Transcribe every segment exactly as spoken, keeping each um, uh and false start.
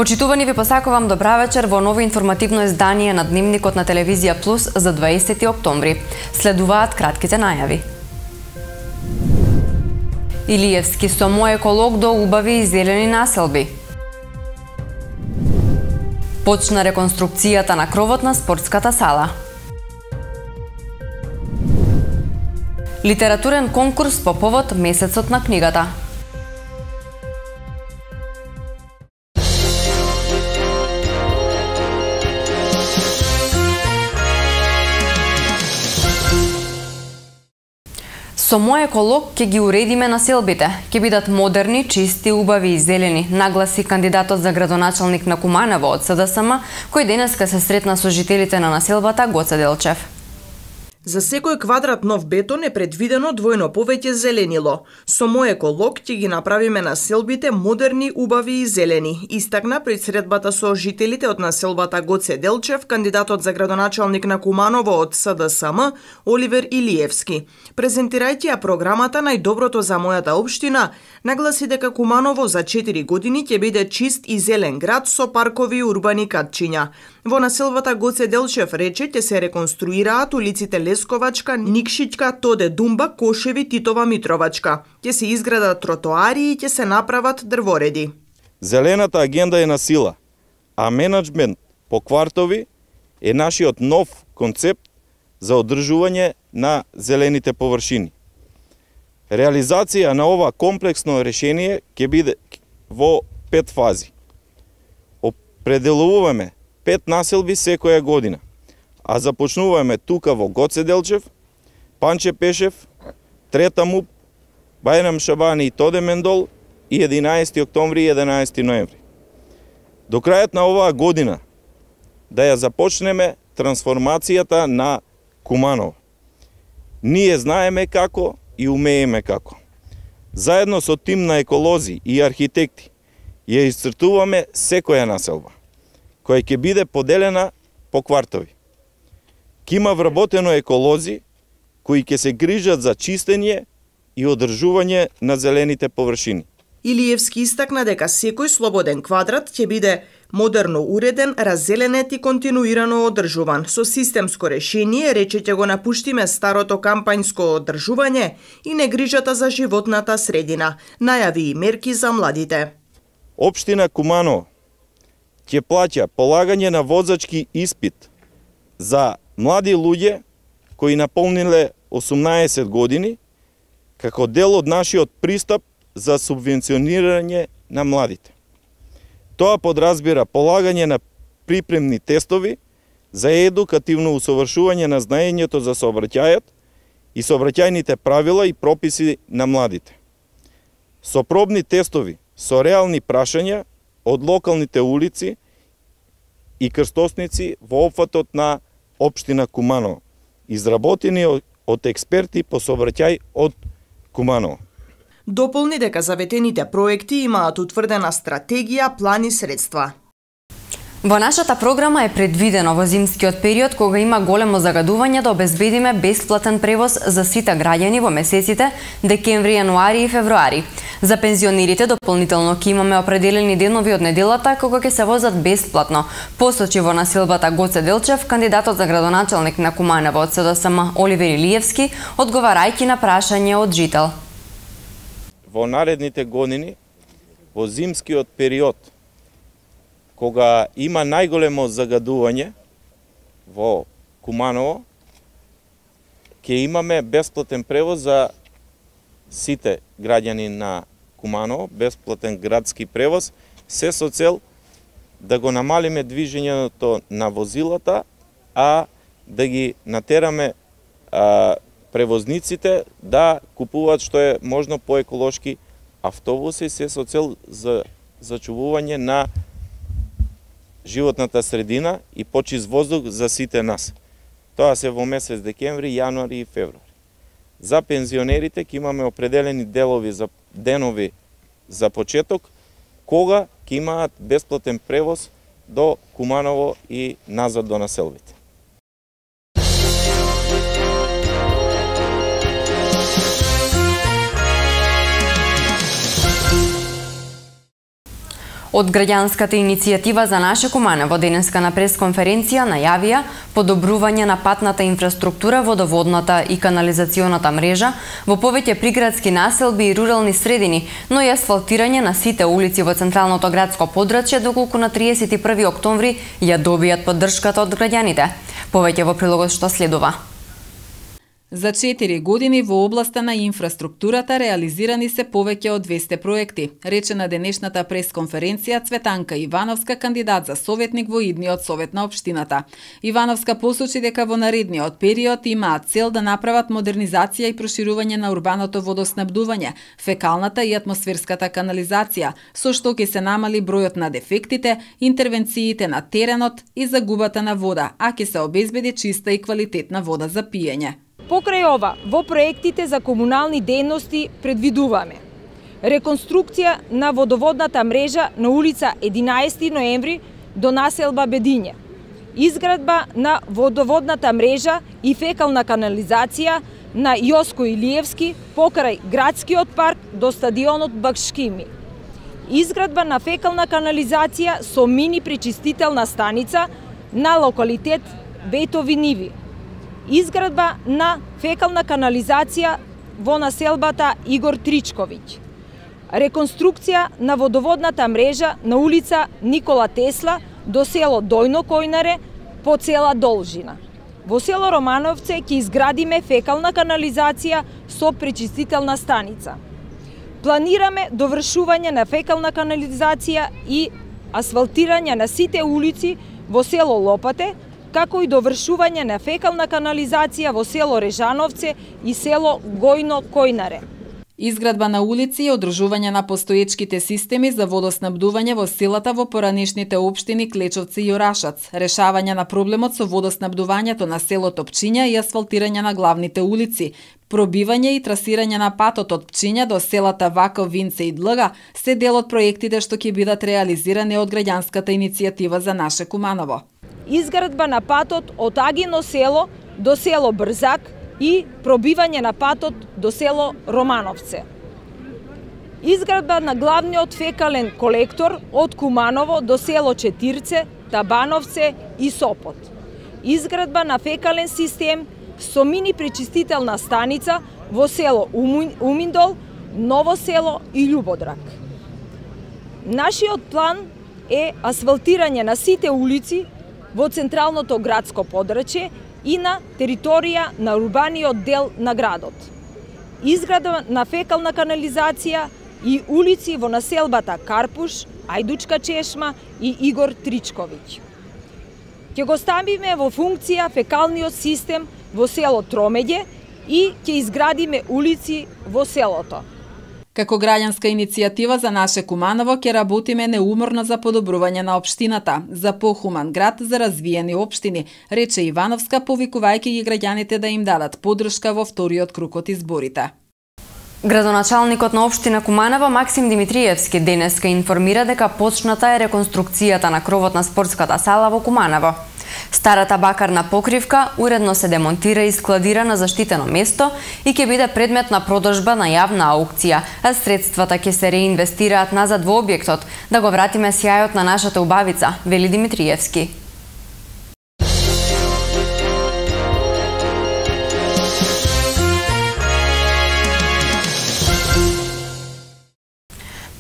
Почитувани, ви посакувам добра вечер во ново информативно издание на Дневникот на Телевизија Плюс за дваесети октомври. Следуваат кратките најави. Илиевски со мој еколог до убави и зелени населби. Почна реконструкцијата на кровот на спортската сала. Литературен конкурс по повод месецот на книгата. Со мој еколог ќе ги уредиме населбите, ќе бидат модерни, чисти, убави и зелени, нагласи кандидатот за градоначалник на Куманово од С Д С М, кој денеска се сретна со жителите на населбата Гоце Делчев. За секој квадрат нов бетон е предвидено двојно повеќе зеленило. Со мој еколог ќе ги направиме населбите модерни, убави и зелени, истакна пред средбата со жителите од населбата Гоце Делчев, кандидатот за градоначалник на Куманово од С Д С М, Оливер Илиевски. Презентирајќи ја програмата Најдоброто за мојата општина, нагласи дека Куманово за четири години ќе биде чист и зелен град со паркови и урбани катчиња. Во населбата Гоце Делчев рече ќе се реконструираат улиците Лесковачка, Никшичка, Тоде Думба, Кошеви, Титова, Митровачка. Ќе се изградат тротоари и ќе се направат дрвореди. Зелената агенда е на сила, а менеджмент по квартови е нашиот нов концепт за одржување на зелените површини. Реализација на ова комплексно решение ќе биде во пет фази. Определуваме пет населби секоја година, а започнуваме тука во Гоце Делчев, Панче Пешев, Трета МУП, Бајрам Шабани и Тоде Мендол и единаесети октомври и единаесети ноември. До крајот на оваа година да ја започнеме трансформацијата на Куманово. Ние знаеме како и умееме како. Заедно со тим на еколози и архитекти ја исцртуваме секоја населба, која ќе биде поделена по квартови. Ке има вработено еколози кои ќе се грижат за чистење и одржување на зелените површини. Илиевски истакна дека секој слободен квадрат ќе биде модерно уреден, раззеленет и континуирано одржуван. Со системско решение рече ќе го напуштиме старото кампањско одржување и негрижата за животната средина, најави и мерки за младите. Општина Куманово ќе плаќа полагање на возачки испит за млади луѓе кои наполниле осумнаесет години, како дел од нашиот пристап за субвенционирање на младите. Тоа подразбира полагање на припремни тестови за едукативно усовршување на знаењето за сообраќајот и сообраќајните правила и прописи на младите. Со пробни тестови со реални прашања од локалните улици и крстосници во опфатот на општина Куманово, изработени од експерти по сообраќај од Куманово. Дополни дека заветените проекти имаат утврдена стратегија, план и средства. Во нашата програма е предвидено во зимскиот период, кога има големо загадување, да обезбедиме бесплатен превоз за сите граѓани во месеците декември, јануари и февруари. За пензионерите дополнително ќе имаме определени денови од неделата кога ќе се возат бесплатно, посочи во населбата Гоце Делчев кандидатот за градоначалник на Куманово од С Д С М Оливер Илиевски, одговарајќи на прашање од жител. Во наредните години, во зимскиот период, кога има најголемо загадување во Куманово, ќе имаме бесплатен превоз за сите граѓани на Куманово, бесплатен градски превоз, се со цел да го намалиме движењето на возилата, а да ги натераме а, превозниците да купуваат што е можно поеколошки автобуси, се со цел за зачувување на животната средина и почист воздух за сите нас. Тоа се во месец декември, јануари и февруари. За пензионерите ќе имаме определени делови за денови за почеток, кога ќе имаат бесплатен превоз до Куманово и назад до населбите. Од граѓанската иницијатива за наше Куманово денеска на пресконференција најавија подобрување на патната инфраструктура, водоводната и канализационата мрежа во повеќе приградски населби и рурални средини, но и асфалтирање на сите улици во централното градско подрачје, доколку на триесет и први октомври ја добијат поддршката од граѓаните. Повеќе во прилогот што следува. За четири години во областа на инфраструктурата реализирани се повеќе од двесте проекти, рече на денешната пресконференција Цветанка Ивановска, кандидат за советник во идниот совет на општината. Ивановска посочи дека во наредниот период имаат цел да направат модернизација и проширување на урбаното водоснабдување, фекалната и атмосферската канализација, со што ќе се намали бројот на дефектите, интервенциите на теренот и загубата на вода, а ќе се обезбеди чиста и квалитетна вода за пиење. Покрај ова, во проектите за комунални дејности предвидуваме реконструкција на водоводната мрежа на улица единаесети ноември до населба Бедиње, изградба на водоводната мрежа и фекална канализација на Јоско Илиевски покрај градскиот парк до стадионот Бакшкими, изградба на фекална канализација со мини пречистителна станица на локалитет Бетови ниви, изградба на фекална канализација во населбата Игор Тричковиќ, реконструкција на водоводната мрежа на улица Никола Тесла до село Дојно Којнаре по цела должина. Во село Романовце ќе изградиме фекална канализација со пречистителна станица. Планираме довршување на фекална канализација и асфалтирање на сите улици во село Лопате, како и довршување на фекална канализација во село Режановце и село Гојно Којнаре. Изградба на улици и одржување на постоечките системи за водоснабдување во селата во поранешните општини Клечовци и Орашац, решавање на проблемот со водоснабдувањето на селото Пчиња и асфалтирање на главните улици, пробивање и трасирање на патот од Пчиња до селата Ваков, Винце и Длга се дел од проектите што ќе бидат реализирани од граѓанската иницијатива за наше Куманово. Изградба на патот од Агино село до село Брзак и пробивање на патот до село Романовце. Изградба на главниот фекален колектор од Куманово до село Четирце, Табановце и Сопот. Изградба на фекален систем со мини пречистителна станица во село Уминдол, Ново село и Љубодрак. Нашиот план е асфалтирање на сите улици во централното градско подрачје и на територија на урбаниот дел на градот. Изградба на фекална канализација и улици во населбата Карпуш, Ајдучка чешма и Игор Тричковиќ. Ќе го ставиме во функција фекалниот систем во село Тромеѓе и ќе изградиме улици во селото. Како граѓанска иницијатива за наше Куманово ќе работиме неуморно за подобрување на општината, за похуман град, за развиени општини, рече Ивановска, повикувајќи ги граѓаните да им дадат поддршка во вториот круг од изборите. Градоначалникот на општина Куманово Максим Димитриевски денеска информира дека почната е реконструкцијата на кровот на спортската сала во Куманово. Старата бакарна покривка уредно се демонтира и складира на заштитено место и ќе биде предмет на продажба на јавна аукција, а средствата ќе се реинвестираат назад во објектот, да го вратиме сјајот на нашата убавица, вели Димитриевски.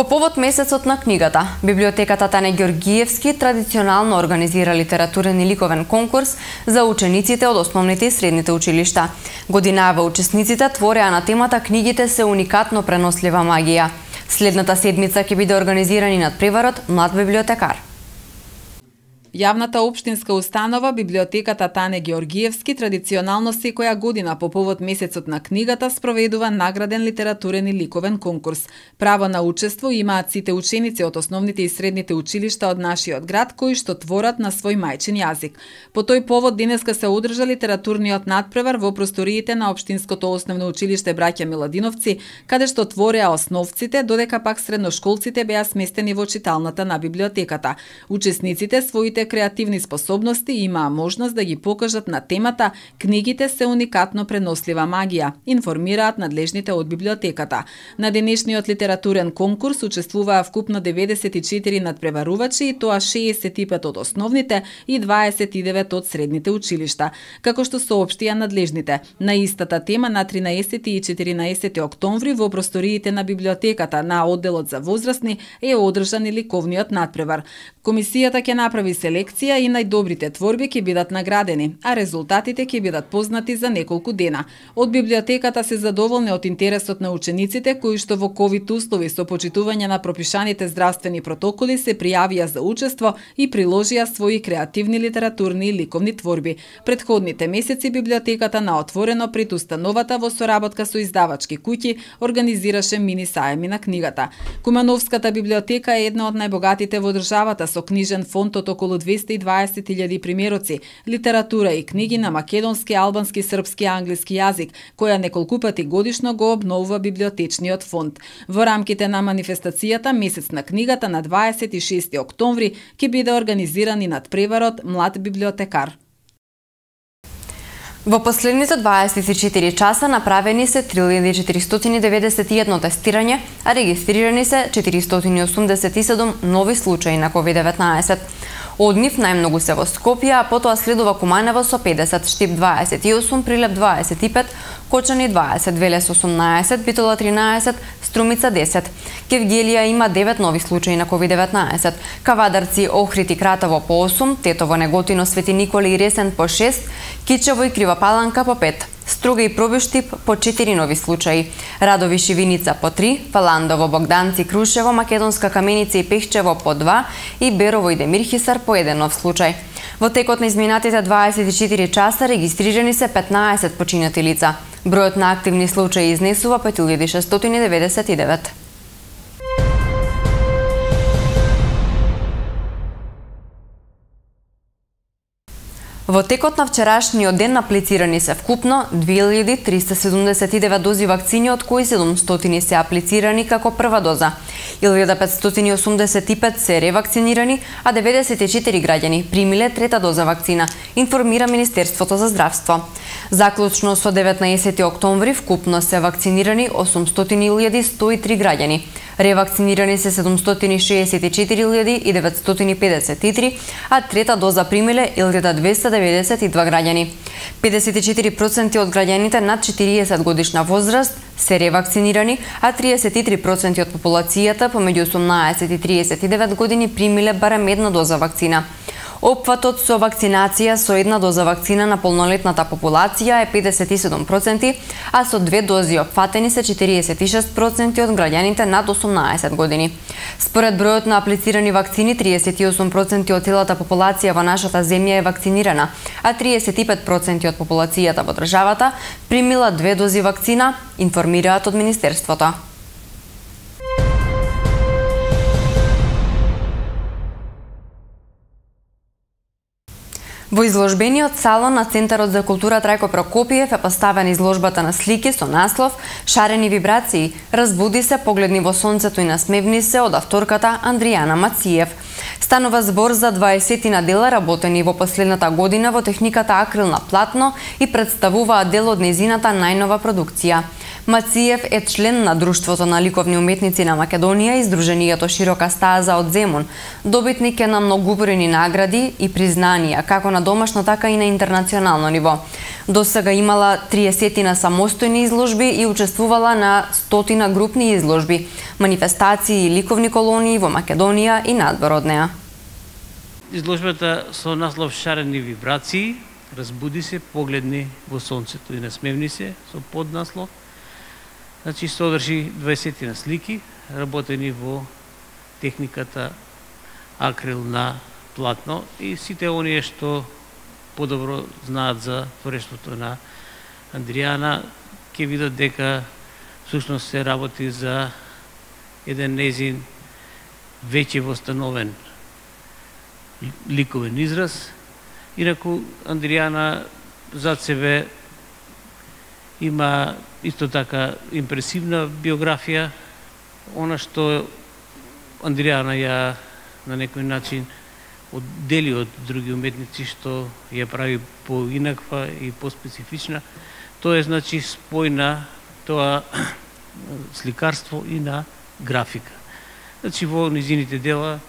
По повод месецот на книгата, библиотеката Тане Ѓорѓиевски традиционално организира литературен и ликовен конкурс за учениците од основните и средните училишта. Годинава учесниците твореа на темата "Книгите се уникатно пренослива магија". Следната седмица ќе биде организиран и надпреварот "Млад библиотекар". Јавната општинска установа, библиотеката Тане Ѓорѓиевски, традиционално секоја година по повод месецот на книгата спроведува награден литературен и ликовен конкурс. Право на учество имаат сите ученици од основните и средните училишта од нашиот град кои што творат на свој мајчин јазик. По тој повод денеска се одржа литературниот надпревар во просториите на општинското основно училиште Браќа Миладиновци, каде што твореа основците, додека пак средношколците беа сместени во читалната на библиотеката. Учесниците своите своите креативни способности и имаа можност да ги покажат на темата "Книгите се уникатно пренослива магија", информираат надлежните од библиотеката. На денешниот литературен конкурс учествуваа вкупно деветдесет и четири надпреварувачи и тоа шеесет и пет од основните и дваесет и девет од средните училишта. Како што соопштија надлежните, на истата тема на тринаесети и четиринаесети октомври во просториите на библиотеката на одделот за возрастни е одржан и ликовниот надпревар. Комисијата ќе направи селекција и најдобрите творби ќе бидат наградени, а резултатите ќе бидат познати за неколку дена. Од библиотеката се задоволни од интересот на учениците кои што во ковид услови со почитување на пропишаните здравствени протоколи се пријавија за учество и приложија своји креативни литературни и ликовни творби. Предходните месеци библиотеката на отворено пред установата во соработка со издавачки куќи организираше мини саеми на книгата. Кумановската библиотека е една од најбогатите во државата со книжен фонд од околу двесте и дваесет илјади примероци, литература и книги на македонски, албански, српски и англиски јазик, која неколку пати годишно го обновува библиотечниот фонд. Во рамките на манифестацијата Месец на книгата на дваесет и шести октомври ќе биде организиран и надпреварот Млад библиотекар. Во последните дваесет и четири часа направени се три илјади четиристотини деветдесет и едно тестирање, а регистрирани се четиристотини осумдесет и седум нови случаи на ковид деветнаесет. Од нив најмногу се во Скопје, а потоа следува Куманово со педесет, Штип дваесет и осум, Прилеп дваесет и пет, Кочани дваесет, Велес осумнаесет, Битола тринаесет, Струмица десет. Кевгелија има девет нови случаи на ковид деветнаесет. Кавадарци, Охрид и Кратово по осум, Тетово, Неготино, Свети Николи и Ресен по шест, Кичево и Крива Паланка по пет. Струга и Пробиштип по четири нови случаи. Радови Шивиница по три, Фаландово, Богданци, Крушево, Македонска Каменица и Пехчево по два и Берово и Демирхисар по еден нов случај. Во текот на изминатите дваесет и четири часа регистрирани се петнаесет починати лица. Бројот на активни случаи изнесува пет илјади шестстотини деветдесет и девет. Во текот на вчерашниот ден аплицирани се вкупно две илјади триста седумдесет и девет дози вакцини, од кои седумстотини се аплицирани како прва доза. илјада петстотини осумдесет и пет се ревакцинирани, а деветдесет и четири граѓани примиле трета доза вакцина, информира Министерството за здравство. Заклучно со деветнаесети октомври вкупно се вакцинирани осумстотини илјади сто и три граѓани. Ревакцинирани се седумстотини шеесет и четири илјади и деветстотини педесет и три, а трета доза примиле илјада двесте деветдесет и два граѓани. педесет и четири проценти од граѓаните над четириесет годишна возраст се ревакцинирани, а триесет и три проценти од популацијата помеѓу осумнаесет и триесет и девет години примиле барем една доза вакцина. Опфатот со вакцинација со една доза вакцина на полнолетната популација е педесет и седум проценти, а со две дози опфатени се четириесет и шест проценти од граѓаните над осумнаесет години. Според бројот на аплицирани вакцини, триесет и осум проценти од целата популација во нашата земја е вакцинирана, а триесет и пет проценти од популацијата во државата примила две дози вакцина, информираат од Министерството. Во изложбениот салон на Центарот за култура Трајко Прокопиев е поставена изложбата на слики со наслов "Шарени вибрации, разбуди се, погледни во сонцето и насмевни се" од авторката Андријана Мациев. Станува збор за дваесет дела работени во последната година во техниката акрил на платно и представуваат дел од нејзината најнова продукција. Мациев е член на Друштвото на ликовни уметници на Македонија и Сдруженијето Широка стаза од Земун. Добитник е на многубројни награди и признанија, како на домашно, така и на интернационално ниво. До сега имала триесет на самостојни изложби и учествувала на стотина групни изложби, манифестации и ликовни колонии во Македонија и надвор од неа. Изложбата со наслов "Шарени вибрации, разбуди се, погледни во сонцето и насмевни се" со поднаслов. Значи, содржи дваесет на слики, работени во техниката акрил на платно и сите оние што подобро знаат за творештвото на Андријана ќе видат дека всушност се работи за еден нејзин веќе востановен ликовен израз. Инаку Андријана зад себе има исто така импресивна биографија. Она што Андријана ја на некој начин оддели од други уметници, што ја прави поинаква и поспецифична. Тоа е, значи, спој на тоа сликарство и на графика. Значи, во низините дела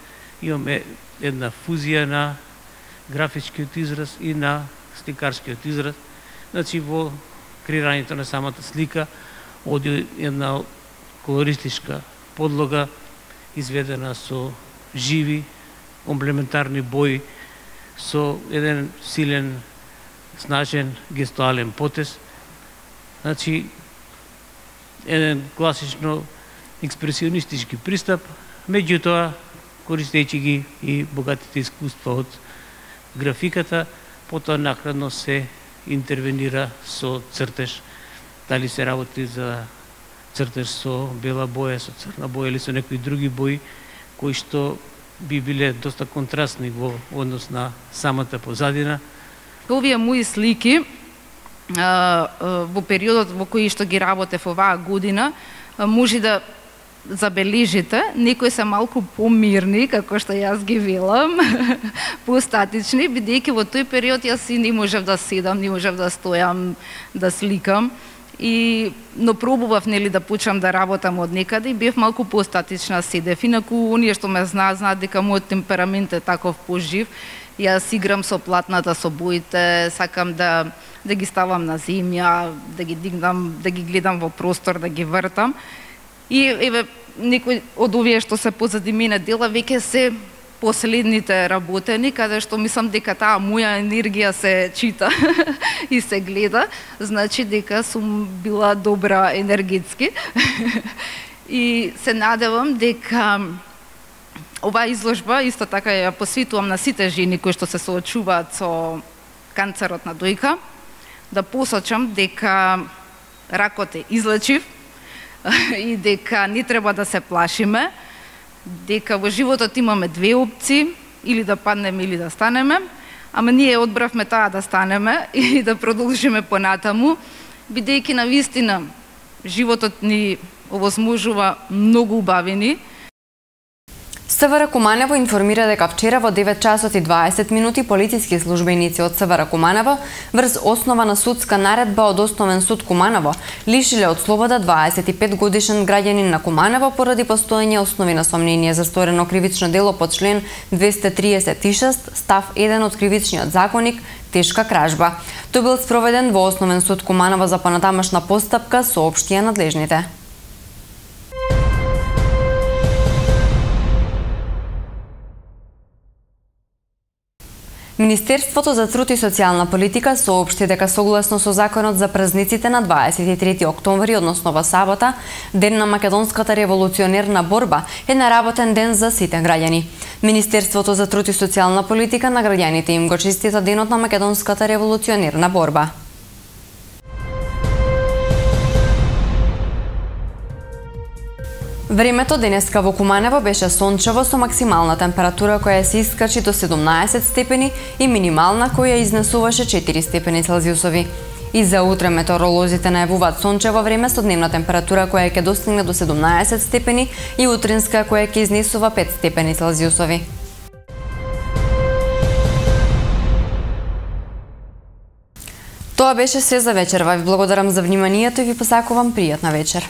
имаме една фузија на графичкиот израз и на сликарскиот израз. Значи, во креирањето на самата слика оди една колористичка подлога, изведена со живи, комплементарни бои, со еден силен, снажен гестуален потез. Значи, еден класично експресионистички пристап, меѓутоа, користејќи ги и богатите искуства од графиката, потоа накратно се интервенира со цртеж, дали се работи за цртеж со бела боја, со црна боја или со некои други бои, кои што би биле доста контрастни во однос на самата позадина. Овие мои слики во периодот во кој што ги работев оваа година, може да забележите, некои се малку помирни, како што јас ги велам, постатични, бидејќи во тој период јас и не можев да седам, не можев да стојам, да сликам. И, но пробував, нели, да почнам да работам од некаде и бев малку постатична, седев. Инаку, оние што ме знаат, знаат дека мојот темперамент е таков пожив. Јас играм со платната, со боите, сакам да, да ги ставам на земја, да ги дигнам, да ги гледам во простор, да ги вртам. И, еве, некои од овие што се позади мене дела, веќе се последните работени, каде што мислам дека таа моја енергија се чита и се гледа, значи дека сум била добра енергетски. И се надевам дека оваа изложба исто така ја посветувам на сите жени кои што се соочуваат со канцерот на дојка, да посочам дека ракот е излечив и дека не треба да се плашиме, дека во животот имаме две опции, или да паднеме или да станеме, ама ние одбравме таа да станеме и да продолжиме понатаму, бидејќи на вистина животот ни овозможува многу убавини. СВР Куманово информира дека вчера во девет часот и дваесет минути полициски службеници од СВР Куманово врз основа на судска наредба од Основен суд Куманово лишиле од слобода дваесет и пет годишен граѓанин на Куманово поради постоење основи на сомнение за сторено кривично дело по член двесте триесет и шест став еден од кривичниот законник тешка кражба. Тој бил спроведен во Основен суд Куманово за понатамошна постапка, соопштија надлежните. Министерството за труд и социјална политика соопшти дека согласно со законот за празниците на дваесет и трети октомври, односно во сабота, ден на македонската револуционерна борба, е наработен ден за сите граѓани. Министерството за труд и социјална политика на граѓаните им го честита денот на македонската револуционерна борба. Времето денеска во Куманово беше сончево со максимална температура која се искачи до седумнаесет степени и минимална која изнесуваше четири степени Целзиусови. И за утре метеоролозите најавуваат сончево време со дневна температура која ќе достигне до седумнаесет степени и утринска која ќе изнесува пет степени Целзиусови. Тоа беше се за вечерва. Ви благодарам за вниманието и ви посакувам пријатна вечер.